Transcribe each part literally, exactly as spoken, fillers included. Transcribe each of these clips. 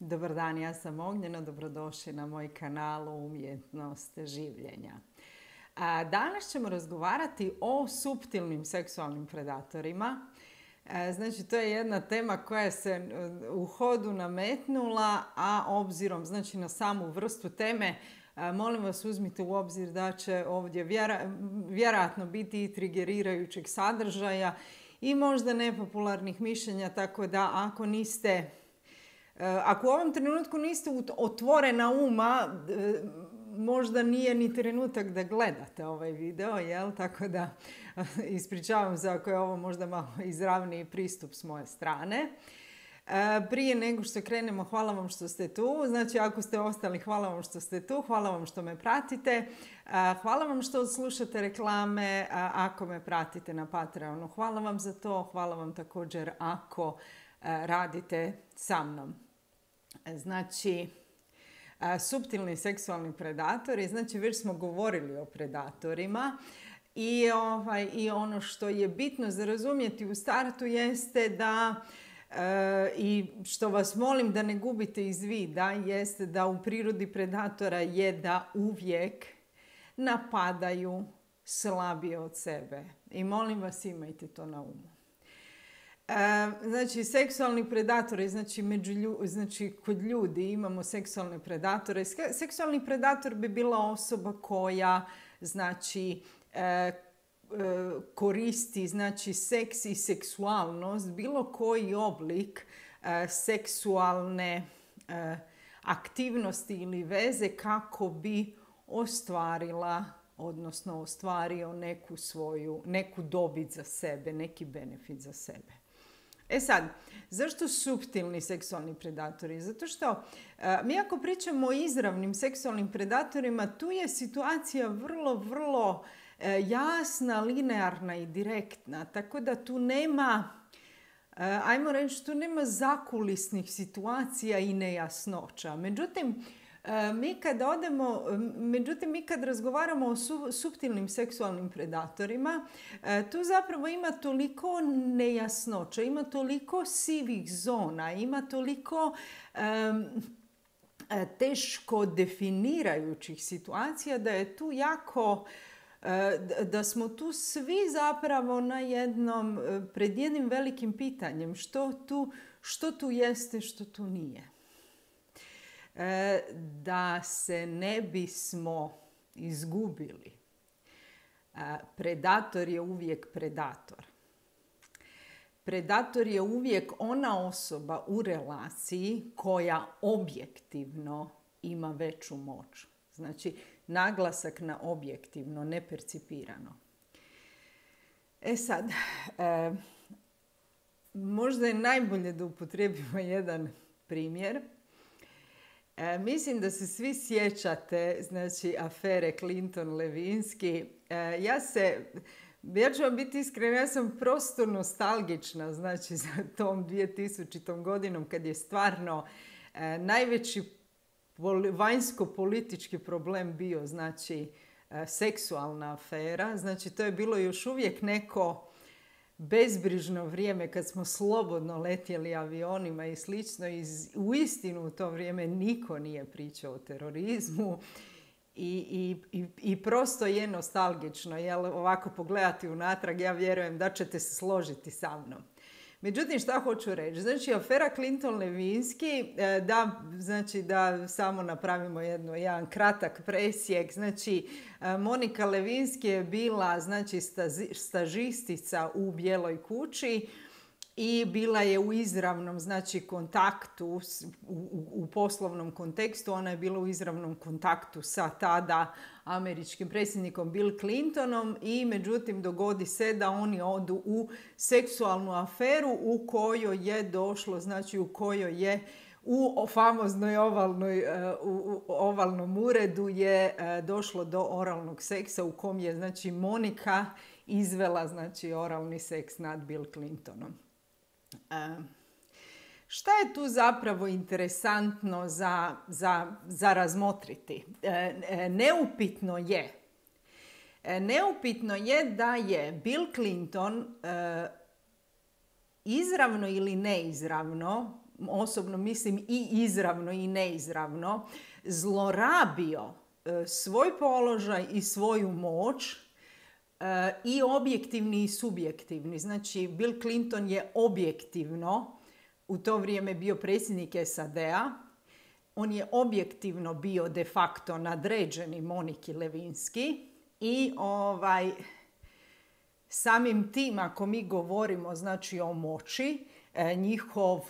Dobar dan, ja sam Ognjena, dobrodošli na moj kanal Umjetnost življenja. Danas ćemo razgovarati o suptilnim seksualnim predatorima. Znači, to je jedna tema koja se u hodu nametnula, a obzirom znači, na samu vrstu teme, molim vas uzmite u obzir da će ovdje vjerojatno biti i trigerirajućeg sadržaja i možda nepopularnih mišljenja, tako da ako niste... Ako u ovom trenutku niste otvorena uma, možda nije ni trenutak da gledate ovaj video, jel? Tako da ispričavam se ako je ovo možda malo izravniji pristup s moje strane. Prije nego što krenemo, hvala vam što ste tu. Znači, ako ste ostali, hvala vam što ste tu. Hvala vam što me pratite. Hvala vam što slušate reklame ako me pratite na Patreonu. Hvala vam za to. Hvala vam također ako radite sa mnom. Znači, suptilni seksualni predatori, znači već smo govorili o predatorima i, ovaj, i ono što je bitno za razumjeti u startu jeste da, e, i što vas molim da ne gubite iz vida, jeste da u prirodi predatora je da uvijek napadaju slabije od sebe. I molim vas imajte to na umu. Znači, seksualni predatori, znači, među lju, znači kod ljudi imamo seksualne predatore. Seksualni predator bi bila osoba koja, znači, e, koristi, znači, seks i seksualnost, bilo koji oblik e, seksualne e, aktivnosti ili veze kako bi ostvarila, odnosno ostvario neku svoju, neku dobit za sebe, neki benefit za sebe. E sad, zašto suptilni seksualni predatori? Zato što e, mi ako pričamo o izravnim seksualnim predatorima, tu je situacija vrlo, vrlo e, jasna, linearna i direktna. Tako da tu nema, e, ajmo reći, tu nema zakulisnih situacija i nejasnoća. Međutim, Mi kad odemo, međutim, mi kad razgovaramo o su, suptilnim seksualnim predatorima, tu zapravo ima toliko nejasnoća, ima toliko sivih zona, ima toliko um, teško definirajućih situacija da je tu jako, da smo tu svi zapravo na jednom, pred jednim velikim pitanjem što tu, što tu jeste, što tu nije. Da se ne bismo izgubili. Predator je uvijek predator. Predator je uvijek ona osoba u relaciji koja objektivno ima veću moć. Znači, naglasak na objektivno, nepercipirano. E sad, e, možda je najbolje da upotrijebimo jedan primjer. E, mislim da se svi sjećate, znači, afere Clinton-Levinsky. E, ja se, ja ću vam biti iskrena, ja sam prosto nostalgična, znači, za tom dvjetisućitom godinom kad je stvarno e, najveći poli, vanjsko-politički problem bio, znači, e, seksualna afera. Znači, to je bilo još uvijek neko bezbrižno vrijeme kad smo slobodno letjeli avionima i slično. I uistinu u to vrijeme niko nije pričao o terorizmu i, i, i, i prosto je nostalgično. Jel, ovako pogledati unatrag, ja vjerujem da ćete se složiti sa mnom. Međutim, šta hoću reći? Znači, afera Clinton-Levinsky, da, znači, da samo napravimo jedno, jedan kratak presjek. Znači, Monika Lewinsky je bila, znači, stažistica u Bijeloj kući i bila je u izravnom, znači, kontaktu, u, u, u poslovnom kontekstu. Ona je bila u izravnom kontaktu sa tada američkim predsjednikom Bill Clintonom i međutim dogodi se da oni odu u seksualnu aferu u kojoj je došlo, znači u kojoj je u famoznoj ovalnoj, u ovalnom uredu je došlo do oralnog seksa u kom je, znači, Monika izvela, znači, oralni seks nad Bill Clintonom. Šta je tu zapravo interesantno za, za, za razmotriti? E, neupitno je. Neupitno je da je Bill Clinton e, izravno ili neizravno, osobno mislim i izravno i neizravno, zlorabio svoj položaj i svoju moć, i objektivni i subjektivni. Znači, Bill Clinton je objektivno u to vrijeme bio predsjednik S A D-a. On je objektivno bio de facto nadređeni Moniki Lewinsky i ovaj, samim tim, ako mi govorimo znači o moći, njihov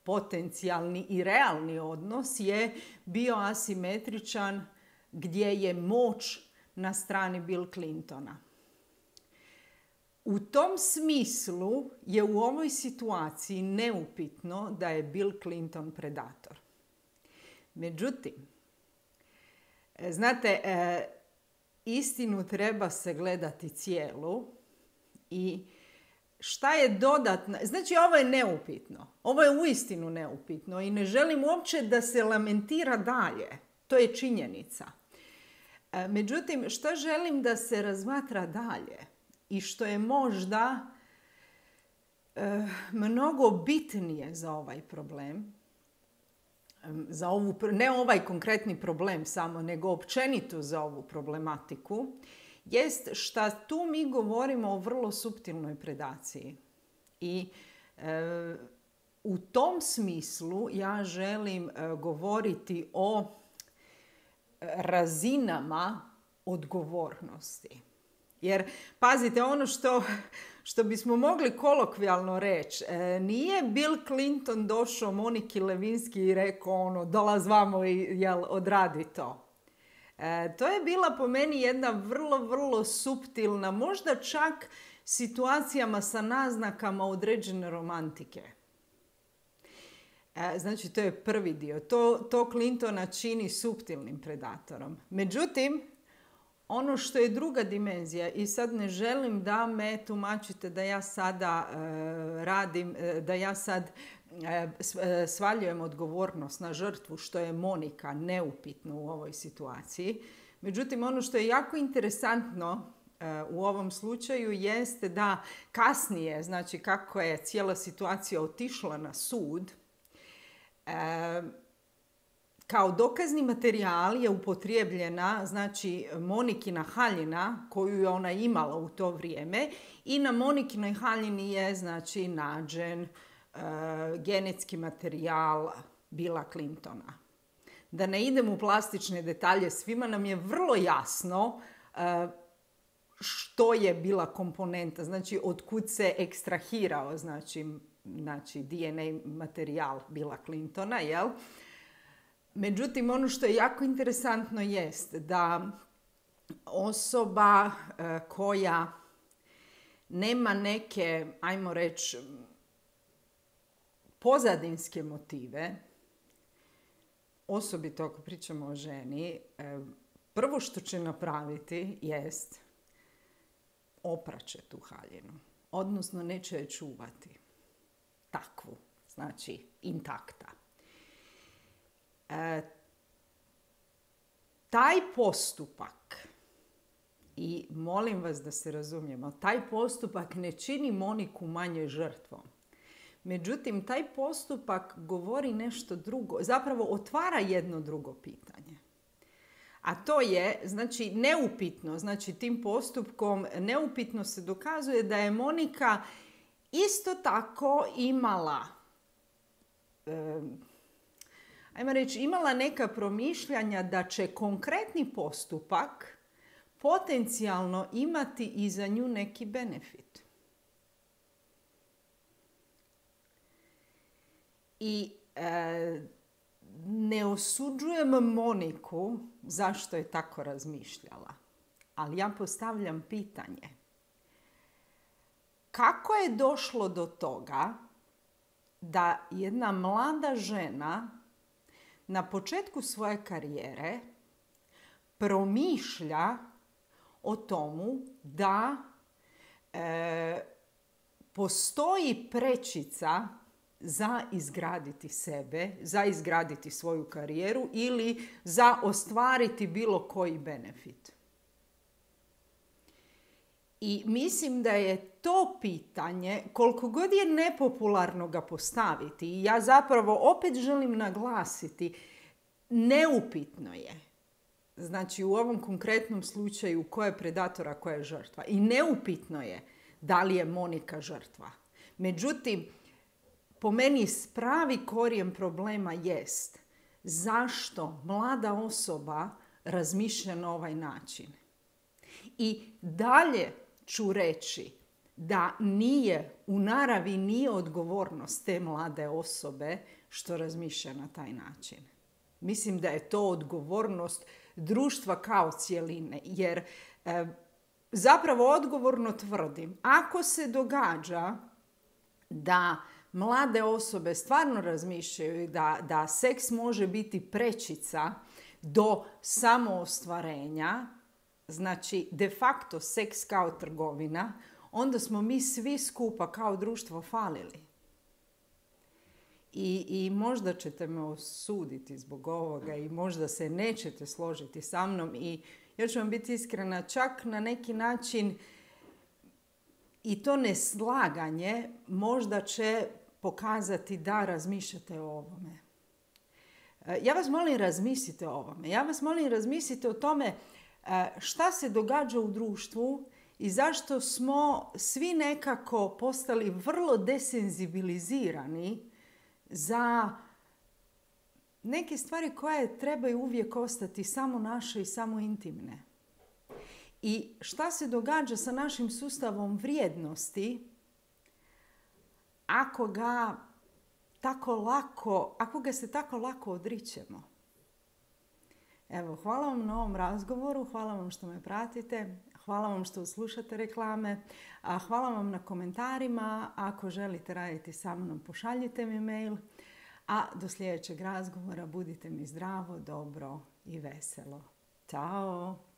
potencijalni i realni odnos je bio asimetričan, gdje je moć na strani Bill Clintona. U tom smislu je u ovoj situaciji neupitno da je Bill Clinton predator. Međutim, znate, istinu treba se gledati cijelu i šta je dodatno, znači ovo je neupitno, ovo je uistinu neupitno i ne želim uopće da se lamentira dalje, to je činjenica. Međutim, šta želim da se razmatra dalje i što je možda e, mnogo bitnije za ovaj problem, za ovu, ne ovaj konkretni problem samo, nego općenito za ovu problematiku, jest što tu mi govorimo o vrlo suptilnoj predaciji. I e, u tom smislu ja želim e, govoriti o razinama odgovornosti. Jer, pazite, ono što, što bismo mogli kolokvijalno reći, e, nije Bill Clinton došao Moniki Lewinsky i rekao ono, dolaz vamo i jel, odradi to. E, to je bila po meni jedna vrlo, vrlo suptilna, možda čak situacijama sa naznakama određene romantike. E, znači, to je prvi dio. To, to Clintona čini suptilnim predatorom. Međutim, ono što je druga dimenzija, i sad ne želim da me tumačite da ja sada e, radim, e, da ja sad e, svaljujem odgovornost na žrtvu, što je Monika neupitno u ovoj situaciji. Međutim, ono što je jako interesantno e, u ovom slučaju jeste da kasnije, znači kako je cijela situacija otišla na sud, e, kao dokazni materijal je upotrijebljena, znači, Monikina haljina koju je ona imala u to vrijeme i na Monikinoj haljini je, znači, nađen e, genetski materijal Billa Clintona. Da ne idem u plastične detalje, svima nam je vrlo jasno e, što je bila komponenta, znači od kud se ekstrahirao, znači, znači D N A materijal Billa Clintona, jel? Međutim, ono što je jako interesantno jest da osoba e, koja nema neke, ajmo reći, pozadinske motive, osobito ako pričamo o ženi, e, prvo što će napraviti jest opraće tu haljinu, odnosno neće je čuvati takvu, znači intakta. E, taj postupak, i molim vas da se razumijemo, taj postupak ne čini Moniku manje žrtvom. Međutim, taj postupak govori nešto drugo, zapravo otvara jedno drugo pitanje. A to je, znači, neupitno, znači tim postupkom neupitno se dokazuje da je Monika isto tako imala e, ajmo reći, imala neka promišljanja da će konkretni postupak potencijalno imati i za nju neki benefit. I e, ne osuđujem Moniku zašto je tako razmišljala, ali ja postavljam pitanje. Kako je došlo do toga da jedna mlada žena na početku svoje karijere promišlja o tomu da e, postoji prečica za izgraditi sebe, za izgraditi svoju karijeru ili za ostvariti bilo koji benefit. I mislim da je to pitanje, koliko god je nepopularno ga postaviti, i ja zapravo opet želim naglasiti, neupitno je. Znači u ovom konkretnom slučaju ko je predator, a ko je žrtva. I neupitno je da li je Monika žrtva. Međutim, po meni pravi korijen problema jest zašto mlada osoba razmišlja na ovaj način. I dalje ću reći da nije, u naravi nije odgovornost te mlade osobe što razmišlja na taj način. Mislim da je to odgovornost društva kao cjeline, jer e, zapravo odgovorno tvrdim, ako se događa da mlade osobe stvarno razmišljaju da, da seks može biti prečica do samoostvarenja, znači de facto seks kao trgovina, onda smo mi svi skupa kao društvo falili. I, I možda ćete me osuditi zbog ovoga i možda se nećete složiti sa mnom i ja ću vam biti iskrena, čak na neki način i to neslaganje možda će pokazati da razmišljate o ovome. Ja vas molim razmislite o ovome. Ja vas molim razmislite o tome šta se događa u društvu i zašto smo svi nekako postali vrlo desenzibilizirani za neke stvari koje trebaju uvijek ostati samo naše i samo intimne. I šta se događa sa našim sustavom vrijednosti ako ga tako lako, ako ga se tako lako odričemo. Evo, hvala vam na ovom razgovoru, hvala vam što me pratite, hvala vam što slušate reklame, a hvala vam na komentarima. Ako želite raditi sa mnom, pošaljite mi mail. A do sljedećeg razgovora budite mi zdravo, dobro i veselo. Ćao!